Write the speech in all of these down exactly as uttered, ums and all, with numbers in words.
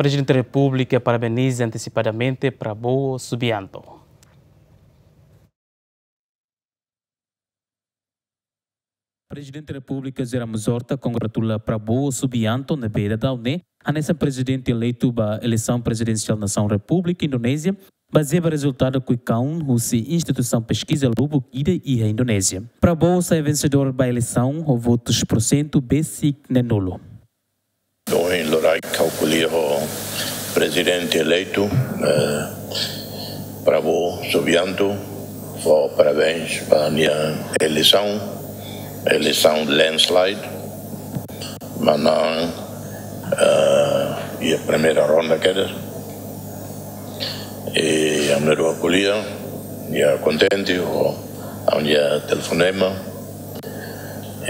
Prezidente Repúblika parabeniza antesipadamente Prabowo Subianto. Prezidente Repúblika José Ramos Horta kongratula Prabowo Subianto ne'ebé daudaun ne'e hanesan prezidente eleitu ba eleisaun prezidensiál nasaun Repúblika Indonézia, bazeia ba rezultadu kuikaun husi instituisaun peskiza lubuk ida iha Indonézia. Prabowo sai vensedór ba eleisaun ho votus porsentu besik neenulu. Ohin loraik ha'u ko'alia ho prezidente eleitu, eh, Prabowo Subianto, fó parabéns ba nia eleisaun, eleisaun landslide, manan, eh, iha primeira ronda kedas. I ami na'in-rua ko'alia, nia kontente ho ami-nia telefonema.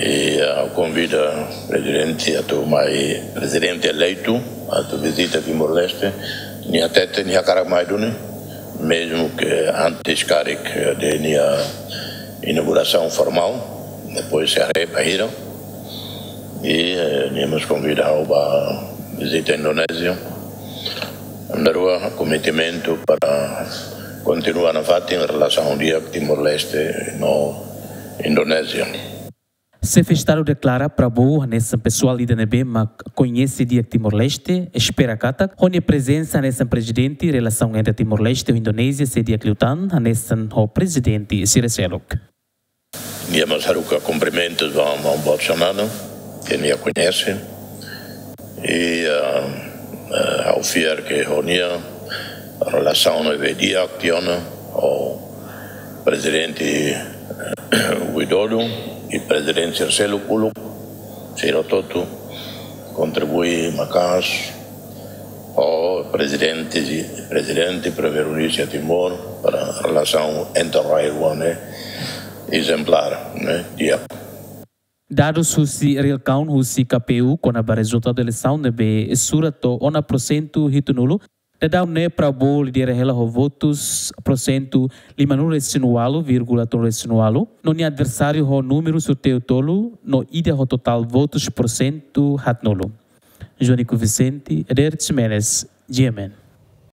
I, ah, konvida prezidente atu mai, prezidente eleitu atu vizita Timor-Leste. Nia hatete nia hakarak mai duni, mezmu ke antes karik, eh, de nia inaugurasaun formál, depois sei haree bainhira. I, eh, nia mós konvida ha'u ba vizita Indonézia. Ami na'in-rua komprometu para kontinua nafatin relasaun di'ak Timor-Leste no Indonézia. Xefe Estadu deklara Prabowo hanesan pesoál ida ne'ebé mak koñese di'ak Timor-Leste, espera katak ho nia prezensa hanesan prezidente, relasaun entre Timor-Leste ho Indonézia sei di'ak liután hanesan ho prezidente sira seluk. Nia mós haruka kumprimentus ba maun Bolsonaro, ke nia koñese. I, ah, ah, ha'u fiar ke ho nia relasaun ne'ebé di'ak tiha ona ho prezidente, eh, Widodo i prezidente sira seluk uluk, sira hotu-hotu kontribui maka'as ho prezidente, prezidente, primeiru-ministru Timor, para relasaun entre rai-rua ne'e ezemplár, ne'e, di'ak. Dadus husi Real Count husi K P U kona-ba rezultadu eleisaun ne'ebé sura to'o ona porsentu hitunulu, daudaun ne'e Prabowo lidera hela ho votus porsentu limanulu-resin-ualu vírgula tolunulu-resin-ualu, no nia adversáriu ho númeru sorteiu tolu no ida ho totál votus porsentu haatnulu. Joanico Vicente, Eder Ximenes, G M N.